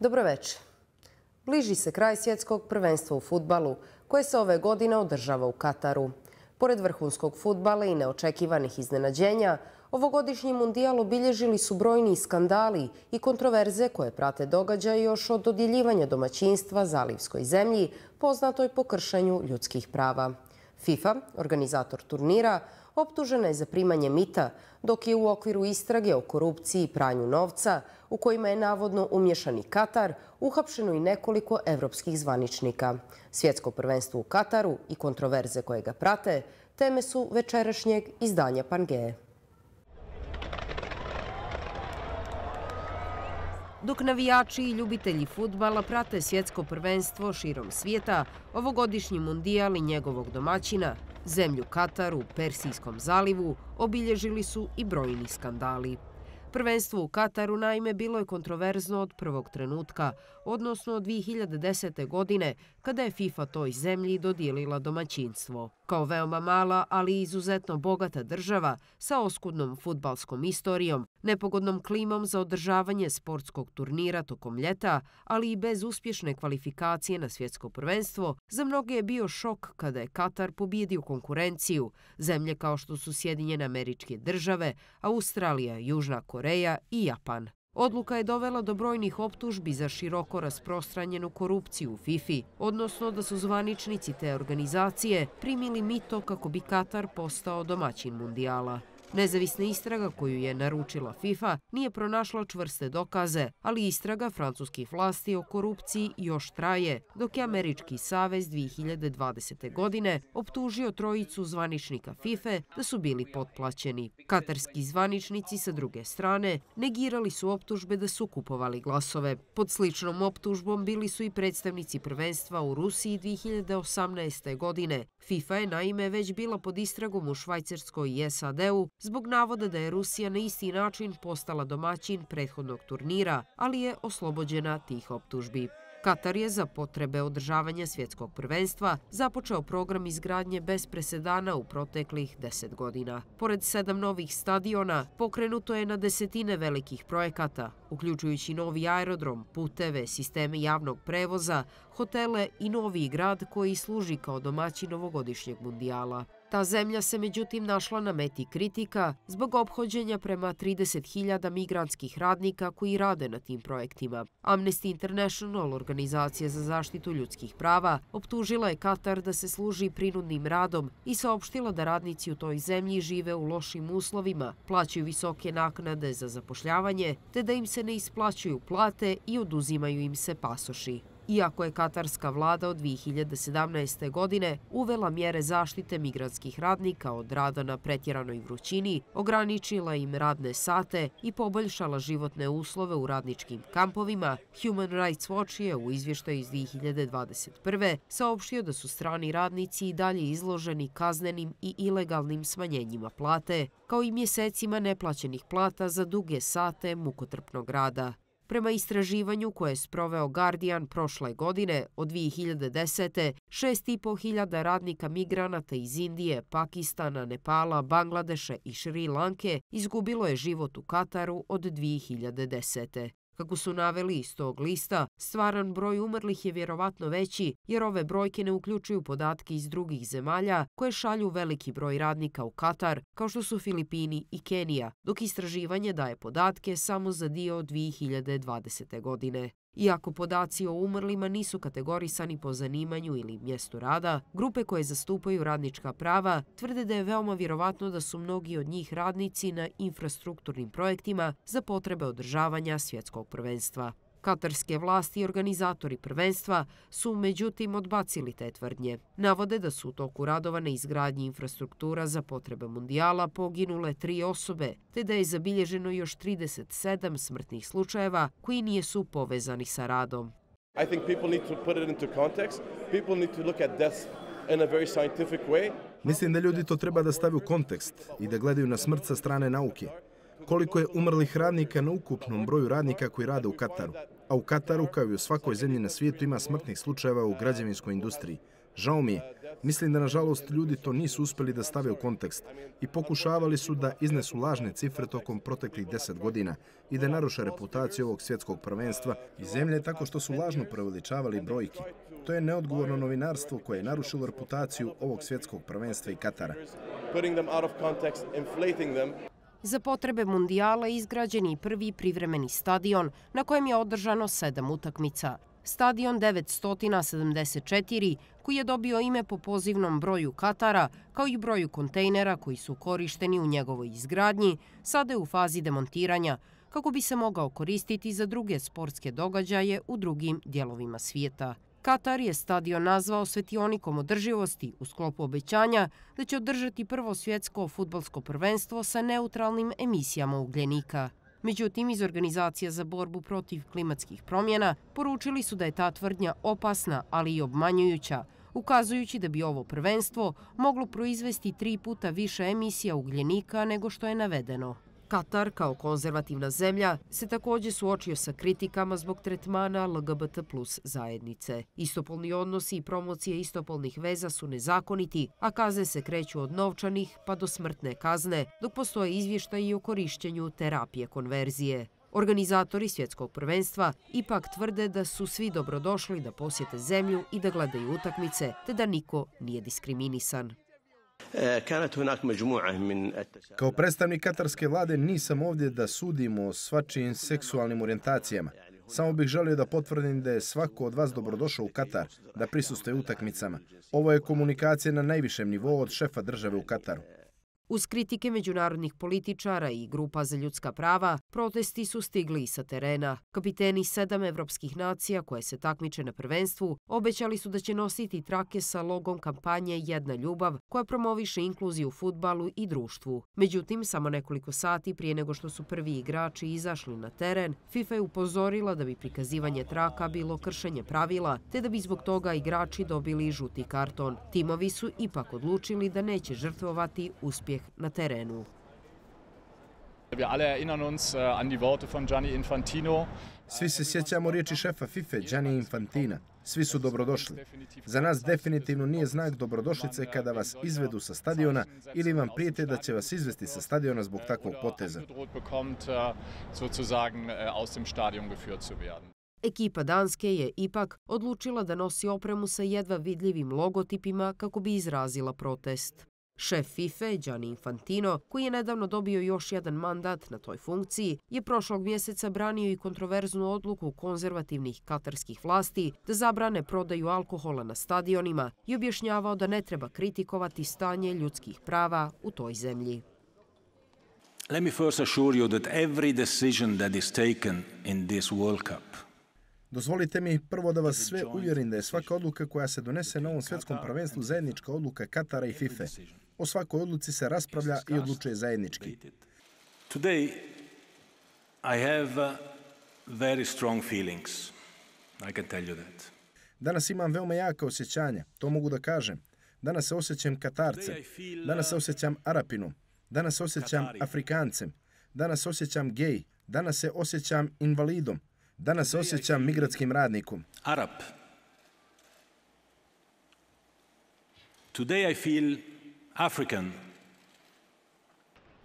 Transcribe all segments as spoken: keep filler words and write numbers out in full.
Dobroveče. Bliži se kraj svjetskog prvenstva u fudbalu, koje se ove godine održava u Kataru. Pored vrhunskog fudbala i neočekivanih iznenađenja, ovogodišnji mundijal obilježili su brojni skandali i kontroverze koje prate događaj još od dodjeljivanja domaćinstva zalivskoj zemlji, poznatoj po kršenju ljudskih prava. FIFA, organizator turnira, optužena je za primanje mita, dok je u okviru istrage o korupciji i pranju novca, u kojima je navodno umješan i Katar, uhapšeno i nekoliko evropskih zvaničnika. Svjetsko prvenstvo u Kataru i kontroverze koje ga prate teme su večerašnjeg izdanja Pangaea. Dok navijači i ljubitelji fudbala prate svjetsko prvenstvo širom svijeta, ovogodišnji mundijal i njegovog domaćina, zemlju Katar u Persijskom zalivu, obilježili su i brojni skandali. Prvenstvo u Kataru naime bilo je kontroverzno od prvog trenutka, odnosno od dvije hiljade desete. godine, kada je FIFA toj zemlji dodijelila domaćinstvo. Kao veoma mala, ali izuzetno bogata država sa oskudnom fudbalskom istorijom, nepogodnom klimom za održavanje sportskog turnira tokom ljeta, ali i bez uspješne kvalifikacije na svjetsko prvenstvo, za mnoge je bio šok kada je Katar pobjedio konkurenciju, zemlje kao što su Sjedinjene Američke Države, Australija, Južna Koreja i Japan. Odluka je dovela do brojnih optužbi za široko rasprostranjenu korupciju u FIFA, odnosno da su zvaničnici te organizacije primili mito kako bi Katar postao domaćin mundijala. Nezavisna istraga koju je naručila FIFA nije pronašla čvrste dokaze, ali istraga francuskih vlasti o korupciji još traje, dok je Američki savez dvije hiljade dvadesete. godine optužio trojicu zvaničnika FIFA da su bili potplaćeni. Katarski zvaničnici sa druge strane negirali su optužbe da su kupovali glasove. Pod sličnom optužbom bili su i predstavnici prvenstva u Rusiji dvije hiljade osamnaeste. godine. FIFA je naime već bila pod istragom u Švajcarskoj i S A D-u zbog navoda da je Rusija na isti način postala domaćin prethodnog turnira, ali je oslobođena tih optužbi. Katar je za potrebe održavanja svjetskog prvenstva započeo program izgradnje bez presedana u proteklih deset godina. Pored sedam novih stadiona, pokrenuto je na desetine velikih projekata, uključujući novi aerodrom, puteve, sisteme javnog prevoza, hotele i novi grad koji služi kao domaćin ovogodišnjeg mundijala. Ta zemlja se međutim našla na meti kritika zbog ophođenja prema trideset hiljada migrantskih radnika koji rade na tim projektima. Amnesty International, organizacija za zaštitu ljudskih prava, optužila je Katar da se služi prinudnim radom i saopštila da radnici u toj zemlji žive u lošim uslovima, plaćaju visoke naknade za zapošljavanje, te da im se ne isplaćuju plate i oduzimaju im se pasoši. Iako je katarska vlada od dvije hiljade sedamnaeste. godine uvela mjere zaštite migrantskih radnika od rada na pretjeranoj vrućini, ograničila im radne sate i poboljšala životne uslove u radničkim kampovima, Human Rights Watch je u izvještaju iz dvije hiljade dvadeset prve. saopštio da su strani radnici i dalje izloženi kaznenim i ilegalnim smanjenjima plate, kao i mjesecima neplaćenih plata za duge sate mukotrpnog rada. Prema istraživanju koje je sproveo Guardian prošle godine, od dvije hiljade desete. šest i po hiljada radnika migranata iz Indije, Pakistana, Nepala, Bangladeša i Šri Lanke izgubilo je život u Kataru od dvije hiljade desete. Kako su naveli iz tog lista, stvaran broj umrlih je vjerovatno veći jer ove brojke ne uključuju podatke iz drugih zemalja koje šalju veliki broj radnika u Katar, kao što su Filipini i Kenija, dok istraživanje daje podatke samo za dio dvije hiljade dvadesete. godine. Iako podaci o umrlima nisu kategorisani po zanimanju ili mjestu rada, grupe koje zastupaju radnička prava tvrde da je veoma vjerovatno da su mnogi od njih radnici na infrastrukturnim projektima za potrebe održavanja svjetskog prvenstva. Katarske vlasti i organizatori prvenstva su međutim odbacili te tvrdnje. Navode da su u toku radova na izgradnji infrastruktura za potrebe mundijala poginule tri osobe, te da je zabilježeno još trideset sedam smrtnih slučajeva koji nisu povezani sa radom. I think people need to put it into context. People need to look at death in a very scientific way. Mislim da ljudi to treba da stave u kontekst i da gledaju na smrt sa strane nauke. Koliko je umrlih radnika na ukupnom broju radnika koji rade u Kataru. A u Kataru, kao i u svakoj zemlji na svijetu, ima smrtnih slučajeva u građevinskoj industriji. Žao mi je, Mislim da, nažalost, ljudi to nisu uspjeli da stave u kontekst i pokušavali su da iznesu lažne cifre tokom proteklih deset godina i da naruše reputaciju ovog svjetskog prvenstva i zemlje tako što su lažno preveličavali brojki. To je neodgovorno novinarstvo koje je narušilo reputaciju ovog svjetskog prvenstva i Katara. Za potrebe mundijala izgrađen je prvi privremeni stadion na kojem je održano sedam utakmica. Stadion devetsto sedamdeset četiri, koji je dobio ime po pozivnom broju Katara, kao i broju kontejnera koji su korišteni u njegovoj izgradnji, sada je u fazi demontiranja, kako bi se mogao koristiti za druge sportske događaje u drugim dijelovima svijeta. Katar je stadion nazvao svetionikom održivosti u sklopu obećanja da će održati prvo svjetsko fudbalsko prvenstvo sa neutralnim emisijama ugljenika. Međutim, iz Organizacije za borbu protiv klimatskih promjena poručili su da je ta tvrdnja opasna, ali i obmanjujuća, ukazujući da bi ovo prvenstvo moglo proizvesti tri puta više emisija ugljenika nego što je navedeno. Katar, kao konzervativna zemlja, se također suočio sa kritikama zbog tretmana L G B T plus zajednice. Istopolni odnosi i promocije istopolnih veza su nezakoniti, a kazne se kreću od novčanih pa do smrtne kazne, dok postoje izvještaji o korišćenju terapije konverzije. Organizatori svjetskog prvenstva ipak tvrde da su svi dobrodošli da posjete zemlju i da gledaju utakmice, te da niko nije diskriminisan. Kao predstavnik katarske vlade nisam ovdje da sudimo o svačijim seksualnim orijentacijama. Samo bih želio da potvrdim da je svako od vas dobrodošao u Katar, da prisustvuje utakmicama. Ovo je komunikacija na najvišem nivou od šefa države u Kataru. Uz kritike međunarodnih političara i grupa za ljudska prava, protesti su stigli i sa terena. Kapiteni sedam evropskih nacija koje se takmiče na prvenstvu obećali su da će nositi trake sa logom kampanje Jedna ljubav, koja promoviše inkluziju u fudbalu i društvu. Međutim, samo nekoliko sati prije nego što su prvi igrači izašli na teren, FIFA je upozorila da bi prikazivanje traka bilo kršenje pravila, te da bi zbog toga igrači dobili žuti karton. Timovi su ipak odlučili da neće žrtvovati uspjeh na terenu. Svi se sjećamo riječi šefa FIFA Gianni Infantina. Svi su dobrodošli. Za nas definitivno nije znak dobrodošlice kada vas izvedu sa stadiona ili vam prijete da će vas izvesti sa stadiona zbog takvog poteza. Ekipa Danske je ipak odlučila da nosi opremu sa jedva vidljivim logotipima kako bi izrazila protest. Šef FIFA Gianni Infantino, koji je nedavno dobio još jedan mandat na toj funkciji, je prošlog mjeseca branio i kontroverznu odluku konzervativnih katarskih vlasti da zabrane prodaju alkohola na stadionima i objašnjavao da ne treba kritikovati stanje ljudskih prava u toj zemlji. Let me first assure you that every decision that is taken in this World Cup. Dozvolite mi prvo da vas sve uvjerim da je svaka odluka koja se donese na ovom svjetskom prvenstvu zajednička odluka Katara i FIFA. O svakoj odluci se raspravlja i odlučuje zajednički. Today I have very strong feelings. I can tell you that. Danas imam veoma jaka osjećanja, to mogu da kažem. Danas se osjećam Katarcem, danas se osjećam Arapinom, danas se osjećam Afrikancem, danas se osjećam gej, danas se osjećam invalidom. Danas se osjećam migratskim radnikom. Arab. Today I feel African.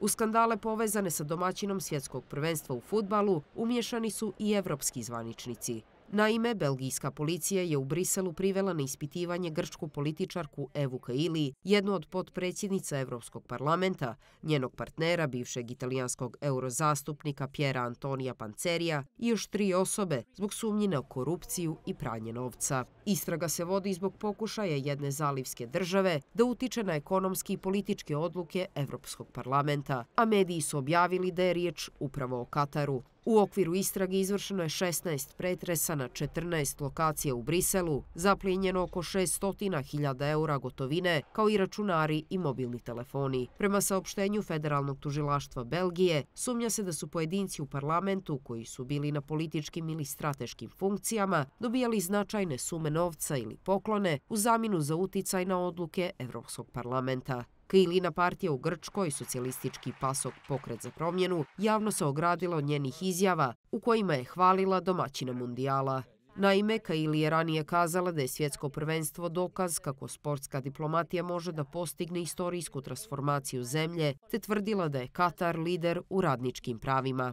U skandale povezane sa domaćinom svjetskog prvenstva u fudbalu umiješani su i evropski zvaničnici. Naime, belgijska policija je u Briselu privela na ispitivanje grčku političarku Evu Kaili, jednu od potpredsjednica Evropskog parlamenta, njenog partnera, bivšeg italijanskog eurozastupnika Piera Antonija Pancerija i još tri osobe zbog sumnji na korupciju i pranje novca. Istraga se vodi zbog pokušaja jedne zalivske države da utiče na ekonomske i političke odluke Evropskog parlamenta, a mediji su objavili da je riječ upravo o Kataru. U okviru istrage izvršeno je šesnaest pretresa na četrnaest lokacija u Briselu, zaplijenjeno oko šesto hiljada eura gotovine, kao i računari i mobilni telefoni. Prema saopštenju Federalnog tužilaštva Belgije, sumnja se da su pojedinci u parlamentu, koji su bili na političkim ili strateškim funkcijama, dobijali značajne sume novca ili poklone u zamjenu za uticaj na odluke Evropskog parlamenta. Kailina partija u Grčkoj, socijalistički PASOK Pokret za promjenu, javno se ogradila od njenih izjava u kojima je hvalila domaćina mundijala. Naime, Kaili je ranije kazala da je svjetsko prvenstvo dokaz kako sportska diplomatija može da postigne istorijsku transformaciju zemlje, te tvrdila da je Katar lider u radničkim pravima.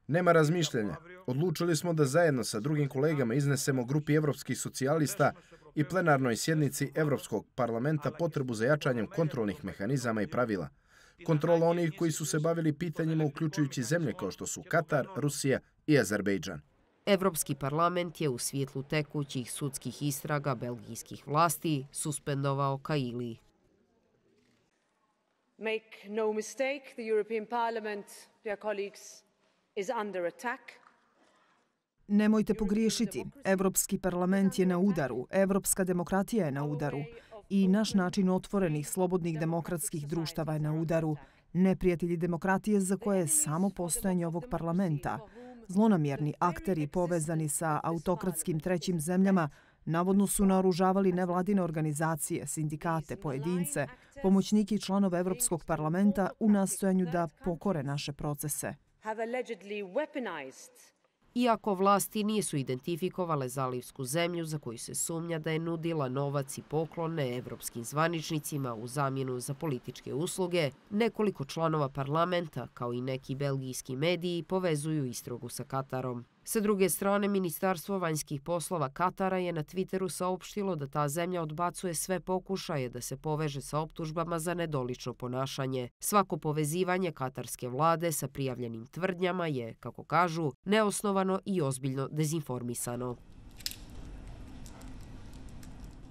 Nema razmišljanja. Odlučili smo da zajedno sa drugim kolegama iznesemo grupi evropskih socijalista i plenarnoj sjednici Evropskog parlamenta potrebu za jačanjem kontrolnih mehanizama i pravila. Kontrola onih koji su se bavili pitanjima uključujući zemlje kao što su Katar, Rusija i Azerbejdžan. Evropski parlament je u svjetlu tekućih sudskih istraga belgijskih vlasti suspendovao Kaili. Make no mistake, the European Parliament, dear colleagues, is under attack. Nemojte pogriješiti. Evropski parlament je na udaru, evropska demokratija je na udaru i naš način otvorenih, slobodnih demokratskih društava je na udaru. Neprijatelji demokratije za koje je samo postojanje ovog parlamenta. Zlonamjerni akteri povezani sa autokratskim trećim zemljama navodno su naoružavali nevladine organizacije, sindikate, pojedince, pomoćnike i članove Evropskog parlamenta u nastojanju da pokore naše procese. Iako vlasti nisu identifikovale zalivsku zemlju za koju se sumnja da je nudila novac i poklone evropskim zvaničnicima u zamjenu za političke usluge, nekoliko članova parlamenta, kao i neki belgijski mediji, povezuju istragu sa Katarom. Sa druge strane, Ministarstvo vanjskih poslova Katara je na Twitteru saopštilo da ta zemlja odbacuje sve pokušaje da se poveže sa optužbama za nedolično ponašanje. Svako povezivanje katarske vlade sa prijavljenim tvrdnjama je, kako kažu, neosnovano i ozbiljno dezinformisano.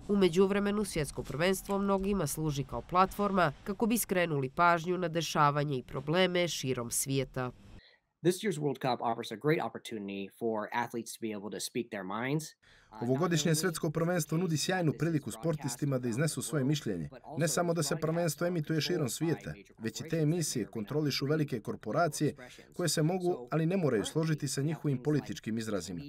U međuvremenu, svjetsko prvenstvo mnogima služi kao platforma kako bi skrenuli pažnju na dešavanje i probleme širom svijeta. This year's World Cup offers a great opportunity for athletes to be able to speak their minds. Ovogodišnje svjetsko prvenstvo nudi sjajnu priliku sportistima da iznesu svoje mišljenje. Ne samo da se prvenstvo emituje širom svijeta, već i te emisije kontrolišu velike korporacije koje se mogu, ali ne moraju složiti sa njihovim političkim izrazima.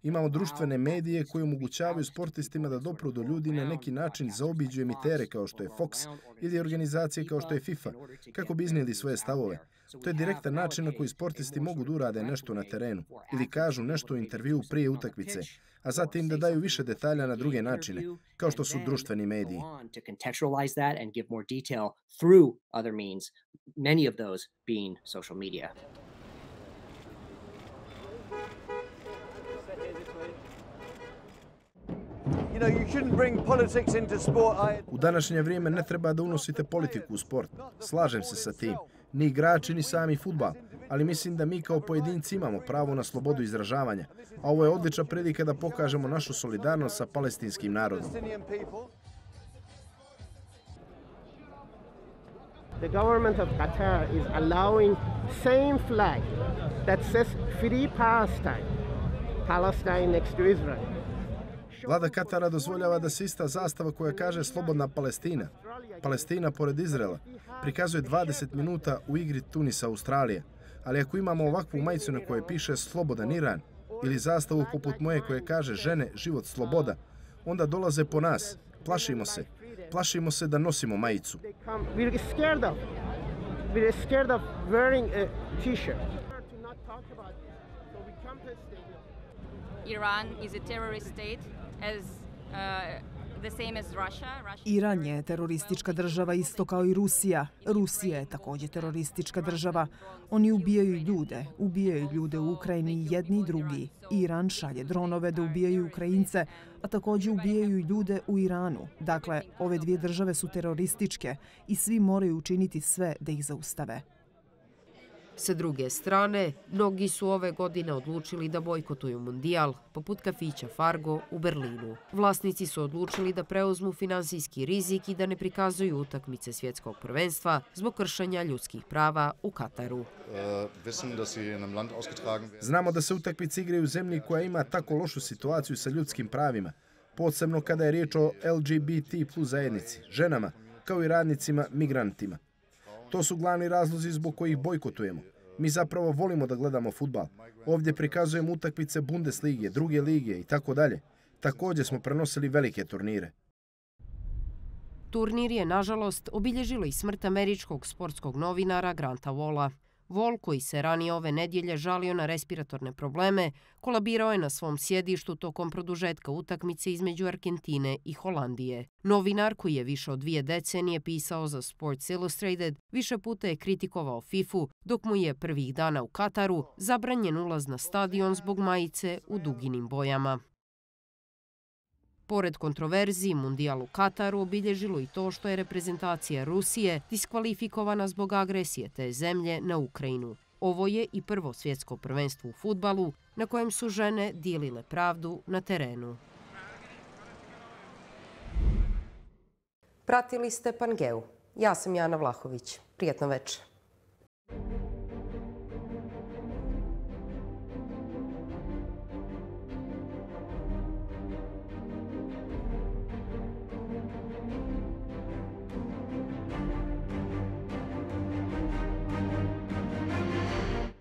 Imamo društvene medije koje omogućavaju sportistima da dopru do ljudi na neki način zaobiđu emitere kao što je Fox ili organizacije kao što je FIFA, kako bi iznijeli svoje stavove. To je direktan način na koji sportisti mogu da urade nešto na terenu ili kažu nešto u intervjuu prije utakmice, a zatim da daju više detalja na druge načine, kao što su društveni mediji. U današnje vrijeme ne treba da unosite politiku u sport. Slažem se sa tim. Ni igrači, ni sami fudbal. Ali mislim da mi kao pojedinci imamo pravo na slobodu izražavanja. A ovo je odlična prilika da pokažemo našu solidarnost sa palestinskim narodom. The government of Qatar is allowing same flag that says Free Palestine, Palestine next to Israel. Vlada Katara dozvoljava da se ista zastava koja kaže Slobodna Palestina, Palestina pored Izraela, prikazuje dvadeset minuta u igri Tunisa Australije. Ali ako imamo ovakvu majicu na kojoj piše Slobodan Iran ili zastavu poput moje koje kaže Žene, život, sloboda, onda dolaze po nas. Plašimo se. Plašimo se da nosimo majicu. Iran is a terrorist state as uh, the same as Russia. Iran je teroristička država isto kao i Rusija. Rusija je također teroristička država. Oni ubijaju ljude, ubijaju ljude u Ukrajini jedni i drugi. Iran šalje dronove da ubijaju Ukrajince, a također ubijaju ljude u Iranu. Dakle, ove dvije države su terorističke i svi moraju učiniti sve da ih zaustave. Sa druge strane, mnogi su ove godine odlučili da bojkotuju mundijal, poput kafića Fargo u Berlinu. Vlasnici su odlučili da preuzmu finansijski rizik i da ne prikazuju utakmice svjetskog prvenstva zbog kršenja ljudskih prava u Kataru. Znamo da se utakmice igraju u zemlji koja ima tako lošu situaciju sa ljudskim pravima, posebno kada je riječ o L G B T plus zajednici, ženama, kao i radnicima, migrantima. To su glavni razlozi zbog kojih bojkotujemo. Mi zapravo volimo da gledamo fudbal. Ovdje prikazujemo utakmice Bundeslige, druge lige i tako dalje. Također smo prenosili velike turnire. Turnir je, nažalost, obilježilo i smrt američkog sportskog novinara Granta Walla. Vol, koji se ranije ove nedjelje žalio na respiratorne probleme, kolabirao je na svom sjedištu tokom produžetka utakmice između Argentine i Holandije. Novinar, koji je više od dvije decenije pisao za Sports Illustrated, više puta je kritikovao fifu, dok mu je prvih dana u Kataru zabranjen ulaz na stadion zbog majice u duginim bojama. Pored kontroverziji, Mundijal u Kataru obilježilo i to što je reprezentacija Rusije diskvalifikovana zbog agresije te zemlje na Ukrajinu. Ovo je i prvo svjetsko prvenstvo u fudbalu na kojem su žene dijelile pravdu na terenu. Pratili ste Pangeu. Ja sam Jana Vlahović. Prijetno večer.